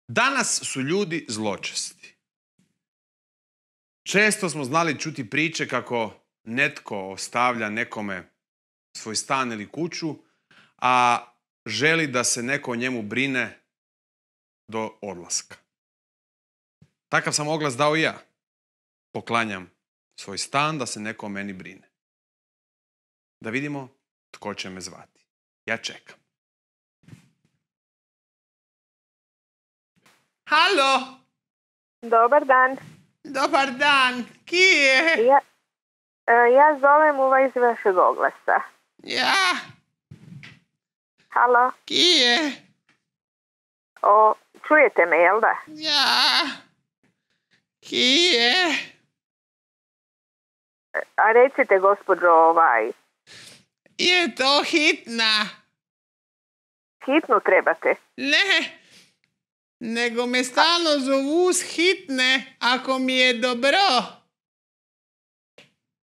Danas su ljudi zločesti. Često smo znali čuti priče kako netko ostavlja nekome svoj stan ili kuću, a želi da se neko o njemu brine do odlaska. Takav sam oglas dao i ja. Poklanjam svoj stan da se neko o meni brine. Da vidimo tko će me zvati. Ja čekam. Halo! Dobar dan. Dobar dan! Ki je? Ja zovem iz vašeg oglasa. Ja? Halo? Ki je? Čujete me, jel da? Ja? Ki je? A recite, gospođo, Je to hitna? hitnu trebate? Ne, nego me stalno zovu s hitne, ako mi je dobro.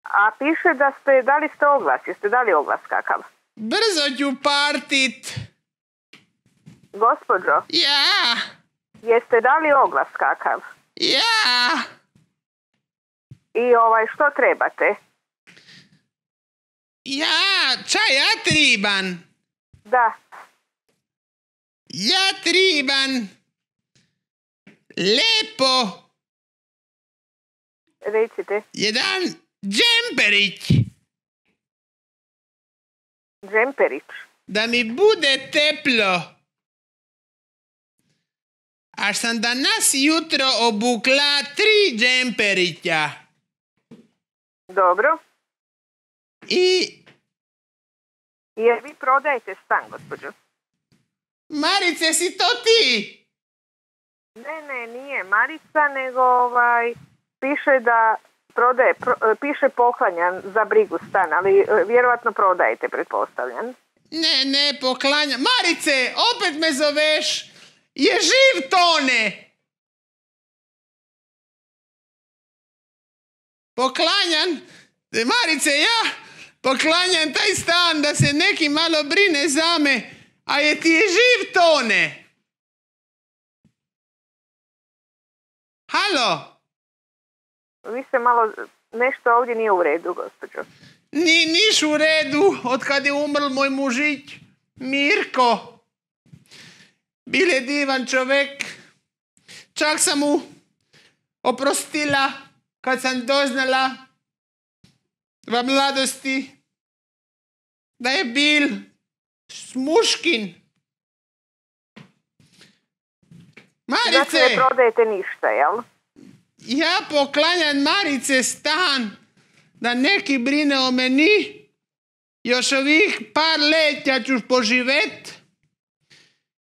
A piše da dali ste oglas. Jeste dali oglas kakav? Brzo ću partit. Gospođo, Ja? jeste dali oglas kakav? Ja? I što trebate? Ja triban. Da. Ja triban. Lepo. Recite. Jedan džemperić. Džemperić. Da mi bude teplo. A sam danas jutro obukla 3 džemperića. Dobro. I... Jer vi prodajete stan, gospođo? Marice, si to ti? Ne, nije Marica, nego piše da prodaje, piše poklanja za brigu stan, ali vjerovatno prodajete, pretpostavljam. Ne, poklanjam. Marice, opet me zoveš. Je živ Tone. Poklanjam. Marice, ja poklanjam taj stan da se neki malo brine za me, a je ti je živ Tone. Halo? Vi se malo, nešto ovdje nije u redu, gospođo. Niš u redu, od kad je umrl moj mužić, Mirko. Bil je divan čovek. Čak sam mu oprostila, kad sam doznala v mladosti, da je bil smuškin. Marice! Znači ne prodajete ništa, jel? Ja poklanjam Marice stan, da neki brine o meni. Još ovih par letja ću poživet,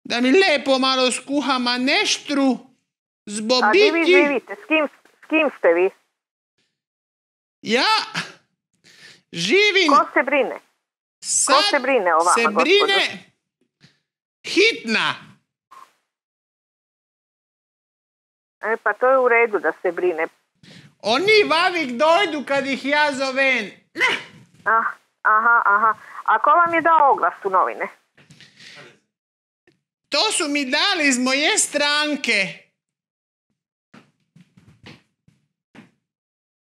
da mi lepo malo skuha maneštru z bobiki. A gdje vi živite? S kim ste vi? Ja živim... Ko se brine? Ko se brine o vama, se gospođo? brine hitna. Pa to je u redu da se brine. Oni vavik dojdu kad ih ja zovem. Aha. A ko vam je dao oglas u novine? To su mi dali iz moje stranke.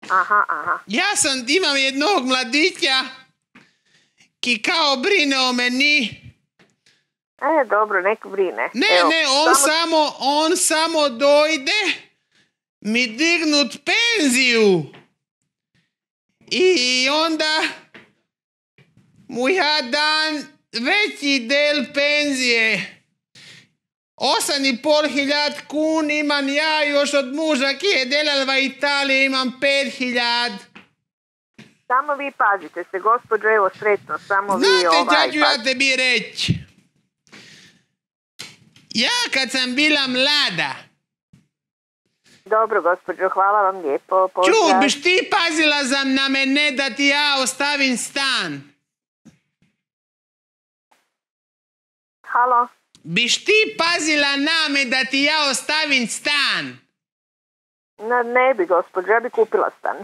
Aha. Ja imam jednog mladića ki kao brine o meni. Dobro, nek brine. Ne, on samo dojde mi dignut penziju. I onda mu ja dan veći del penzije. 8.500 kun imam ja još od muža ki je delal v Italiji, imam 5.000. Samo vi pazite se, gospođo, evo sretno, samo vi Znate, šta ću ja tebi reći? Ja kad sam bila mlada... Dobro, gospođo, hvala vam lijepo. Pozdrav. Biš ti pazila na mene da ti ja ostavim stan? Halo? Biš ti pazila na me da ti ja ostavim stan? Ne bi, gospođo, ja bi kupila stan.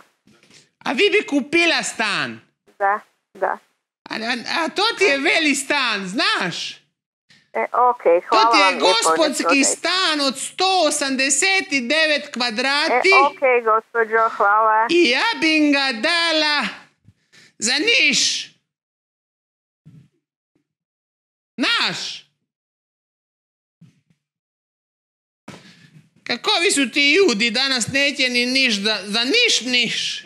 A vi bi kupila stan? Da. A to ti je veli stan, znaš? Okej, To hvala ti vam je lijepo, ne gospodski prodajte. stan od 189 kvadrati Okej, gospođo, hvala. i ja bi ga dala za Niš. Naš. Kakovi su ti ljudi, danas neće ni Niš, za Niš.